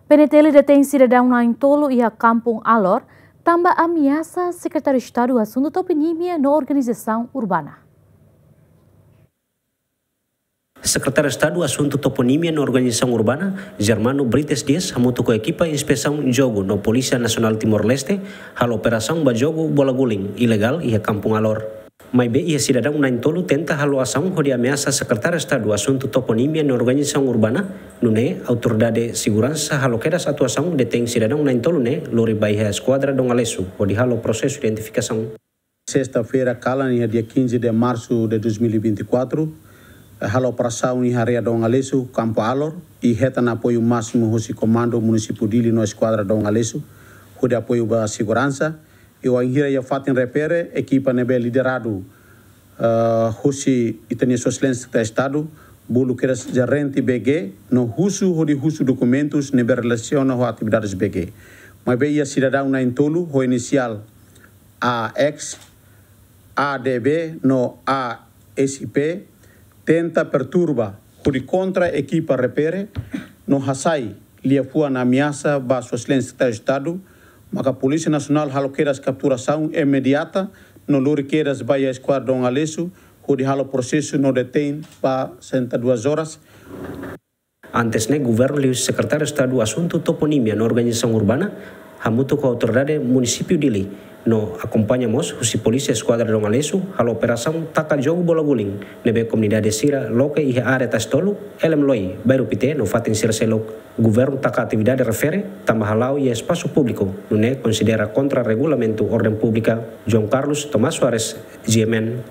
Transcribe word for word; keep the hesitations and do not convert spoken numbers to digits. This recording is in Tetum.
PNTL detein sidadaun na'in-tolu iha Kampung Alor, tanba ameasa Sekretáriu Estadu Asuntu Toponímia no Organizasaun Urbana. Sekretáriu Estadu Asuntu Toponímia no Organizasaun Urbana, Germano Brites Dias, hamutuk ho ekipa inspesaun jogu no Polísia Nasionál Timor-Leste, halo operasaun ba jogu bola guling ilegál iha Kampung Alor. Maibé iha sidadaun na'in-tolu tenta halo asaun hodi ameasa Sekretáriu Estadu Asuntu Toponímia no Organizasaun Urbana, nune'e autoridade seguransa halo kedas atuasaun, detein sidadaun na'in-tolu ne'e, lori ba iha Eskuadra Dom Aleixo, hodi halo prosesu identifikasaun. Sesta-feira kalan, iha dia quinze de março de dois mil e vinte e quatro, eh, halo operasaun iha área Dom Aleixo, Kampung Alor, i hetan apoiu másimu husi Komandu Munisípiu Dili no Eskuadra Dom Aleixo, hodi apoiu ba seguransa, i wainhira iha fatin refere, ekipa ne'ebé lideradu, eh, husi ita-nia Sua Exelénsia Sekretáriu Estadu, bolu kedas jerente BG, no husu hodi husu dokumentus ne'ebé relasiona ho atividades BG. Maibé iha sidadaun na'in-tolu, ho inisiál A X, A D B no A S P, tenta perturba hodi kontra ekipa refere no hasai liafuan ameasa ba Sua Exelénsia Sekretáriu Estadu, maka Polísia Nasionál halo kedas kapturasaun imediata no lori kedas ba iha Eskuadra Dom Aleixo, hodi halo prosesu no detein ba sessenta e duas horas. Antes ne'e, Governu liuhusi Sekretáriu Estadu Asuntu Toponímia no Organizasaun Urbana, hamutuk ho autoridade Munisípiu Dili, no akompaña mós husi Polísia Eskuadra Dom Aleixo, halo operasaun taka jogu bola guling, ne'ebé komunidade sira loke iha área Tasi Tolu, Elem Loi, Bairru Pité, no fatin sira seluk. Governu taka atividade refere tanba hala'o iha espasu públiku, nune'e konsidera kontra regulamentu orden públika. João Carlos, Tomás Soares, G M N.